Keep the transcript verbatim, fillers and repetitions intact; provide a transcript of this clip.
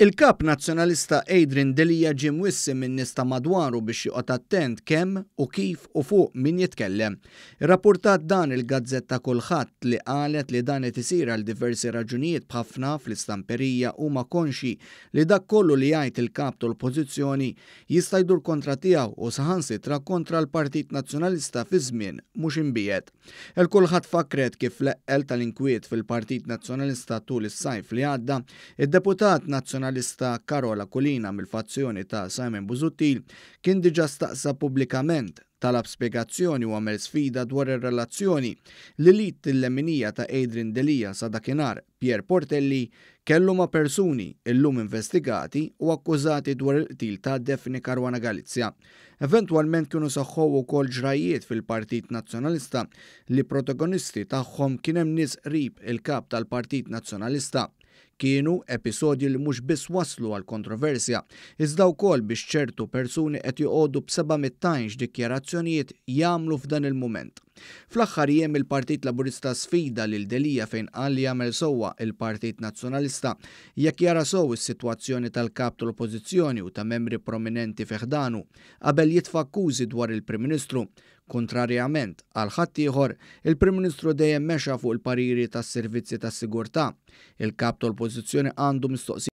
Il-Kap Nazzjonalista Adrian Delia ġie mwissi minn nies ta' madwaru biex joqgħod attent kemm u kif u fuq min jitkellem. Irrappurtat dan il-gazzetta Kullħadd li qalet li dan qed isir għal diversi raġunijiet, b'ħafna fl-istamperija huma konxji li dak kollu li jgħid il-kap tal-Oppożizzjoni jista' jdur kontra tiegħu u saħansitra kontra l-Partit Nazzjonalista fi żmien mhux imbiegħed. Il-Kullħadd fakret kif l-eqqel tal-inkwiet fil-Partit Nazzjonalista tul is-sajf li għadda, id-deputat Nazzjonalista Karol Aquilina mill-fazzjoni ta' Simon Busuttil kien diġà staqsa pubblikament, talab spjegazzjoni u għamel sfida dwar ir-relazzjoni li l-id il-leminija ta' Adrian Delia sa dakinhar, Pierre Portelli, kellu ma' persuni illum investigati u akkużati dwar il-qtil ta' Daphne Caruana Galizia. Eventwalment kienu seħħu wkoll ġrajiet fil-Partit Nazzjonalista li protagonisti tagħhom kien hemm nies qrib il-kap tal-Partit Nazzjonalista. Kienu episodji li mhux biss waslu għal kontroversja, iżda wkoll biex ċertu persuni qed joqogħdu b'seba' mittajn dikjarazzjonijiet jagħmlu f'dan il-mument. Fl-aħħar jiem il-Partit Laburista sfida lil Delia fejn qal li jagħmel sewwa il-Partit Nazzjonalista jekk jara sew is-sitwazzjoni tal-kap tal-Oppożizzjoni u ta' membri prominenti fi ħdanu qabel jitfa' akkużi dwar il-Prim Ministru. Kontrarjament għal ħaddieħor, il-Prim Ministru dejjem mexa fuq il-pariri tas-servizzi tas-sigurtà. Il-kap tal-Oppożizzjoni għandu mistoqsijiet